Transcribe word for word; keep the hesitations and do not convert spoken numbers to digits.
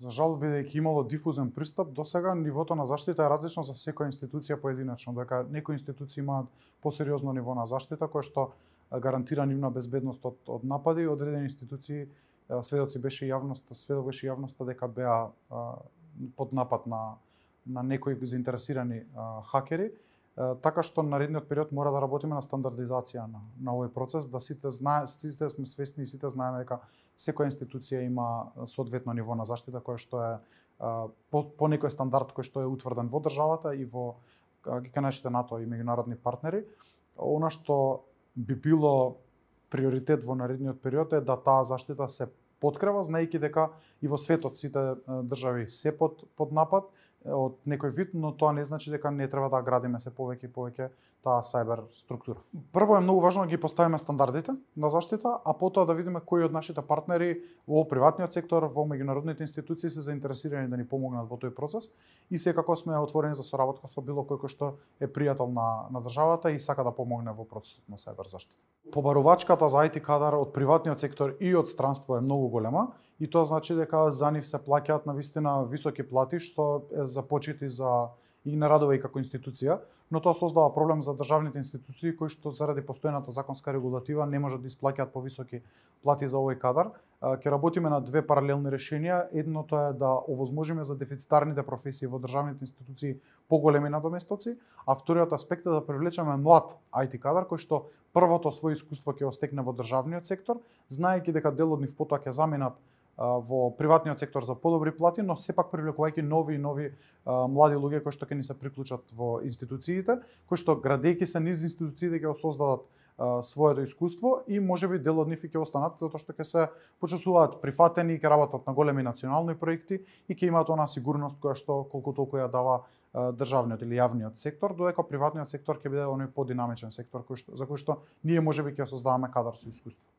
За жал, бидејќи имало дифузен пристап, до сега нивото на заштита е различно за секоја институција поединечно, дека некои институции имаат посериозно ниво на заштита кое што гарантира нивна безбедност од, од напади, одредени институции сведоци беше јавноста, сведок беше јавноста дека беа а, под напад на на некои заинтересирани а, хакери, а, така што наредниот период мора да работиме на стандардизација на на овој процес, да сите знае, сите сме свесни и сите знаеме дека секоја институција има соодветно ниво на заштита кое што е а, по, по некој стандард кој што е утврден во државата и во ги кажете НАТО и меѓународни партнери. Она што би било приоритет во наредниот период е да таа заштита се подкрепа, знаејќи дека и во светот сите држави се под под напад од некој вид, но тоа не значи дека не треба да градиме се повеќе и повеќе таа сајбер структура. Прво е многу важно да ги поставиме стандардите на заштита, а потоа да видиме кои од нашите партнери во приватниот сектор, во меѓународните институции се заинтересирани да ни помогнат во тој процес и секако сме отворени за соработка со било кој кој што е пријател на на државата и сака да помогне во процесот на сајбер заштита. Побарувачката за ай ти кадар од приватниот сектор и од странство е многу голема и тоа значи дека за нив се плаќаат навистина високи плати што е за почит и за и не радува и како институција, но тоа создава проблем за државните институции кои што заради постојната законска регулатива не можат да исплаќаат повисоки плати за овој кадар. Ќе работиме на две паралелни решенија. Едното е да овозможиме за дефицитарните професии во државните институции поголеми надоместоци, а вториот аспект е да привлечеме млад ай ти кадар кој што првото своје искуство ќе остекне во државниот сектор, знаејќи дека дел од нив потоа ќе заминат во приватниот сектор за подобри плати, но сепак привлекувајќи нови и нови а, млади луѓе кои што ќе ни се приклучат во институциите, кои што градејќи се низ институциите ќе осоздадат а, своето искуство и можеби дел од нив ќе останат затоа што ќе се почувствуваат прифатени и ќе работат на големи национални проекти и ќе имаат онаа сигурност која што колку толку ја дава а, државниот или јавниот сектор, додека приватниот сектор ќе биде оној подинамичен сектор кој што, за кој што ние можеби ќе создаваме кадар со искуство.